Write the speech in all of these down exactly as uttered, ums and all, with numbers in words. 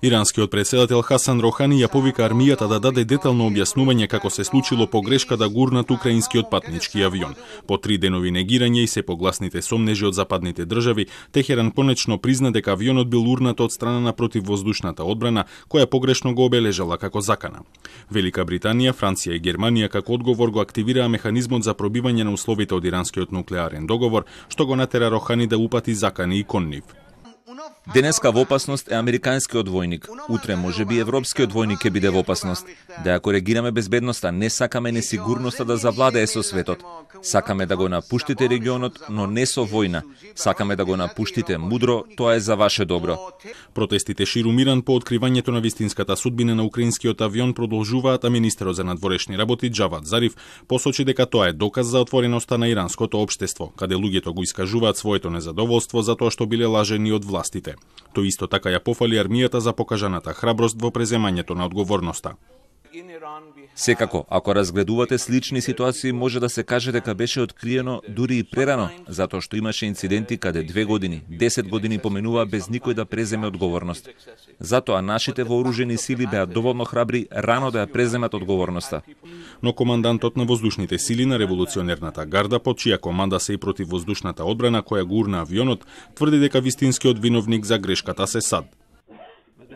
Иранскиот претседател Хасан Рохани ја повика армијата да даде детално објаснување како се случило погрешка да гурнат украинскиот патнички авион. По три денови негирање и се погласните сомнежи од западните држави, Техеран конечно призна дека авионот бил урнат од страна на противвоздушната одбрана, која погрешно го обележала како закана. Велика Британија, Франција и Германија како одговор го активираа механизмот за пробивање на условите од иранскиот нуклеарен договор, што го натера Рохани да упати закани и кон нив. Денеска во опасност е американскиот војник, утре можеби европскиот војник ќе биде во опасност. Да ја коригираме безбедноста, не сакаме несигурноста да завладее со светот. Сакаме да го напуштите регионот, но не со војна. Сакаме да го напуштите мудро, тоа е за ваше добро. Протестите ширум Иран по откривањето на вистинската судбина на украинскиот авион продолжуваат, а министерот за надворешни работи Џавад Зариф посочи дека тоа е доказ за отвореноста на иранското општество, каде луѓето го искажуваат своето незадоволство за тоа што биле лажени од властите. Тој исто така ја пофали армијата за покажаната храброст во преземањето на одговорноста. Секако, ако разгледувате слични ситуации, може да се каже дека беше откриено дури и прерано, затоа што имаше инциденти каде две години, десет години поминува без никој да преземе одговорност. Затоа нашите вооружени сили беа доволно храбри рано да ја преземат одговорноста. Но командантот на воздушните сили на револуционерната гарда, под чија команда се и противвоздушната одбрана која гурна авионот, тврди дека вистинскиот виновник за грешката се САД.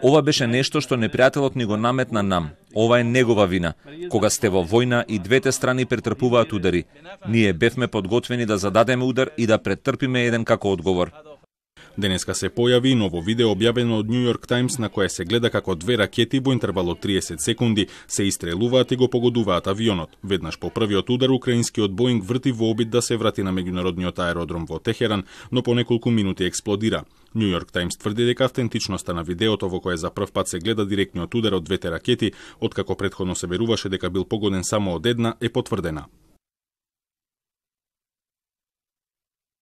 Ова беше нешто што непријателот ни го наметна нам. Ова е негова вина. Кога сте во војна и двете страни претрпуваат удари. Ние бевме подготвени да зададеме удар и да претрпиме еден како одговор. Денеска се појави ново видео објавено од Нью Йорк Таймс на кое се гледа како две ракети во интервал од триесет секунди се истрелуваат и го погодуваат авионот. Веднаш по првиот удар украинскиот Боинг врти во обид да се врати на меѓународниот аеродром во Техеран, но по неколку минути експлодира. Нью Йорк Таймс тврди дека автентичноста на видеото во кое за прв пат се гледа директниот удар од двете ракети, откако претходно се веруваше дека бил погоден само од една, е потврдена.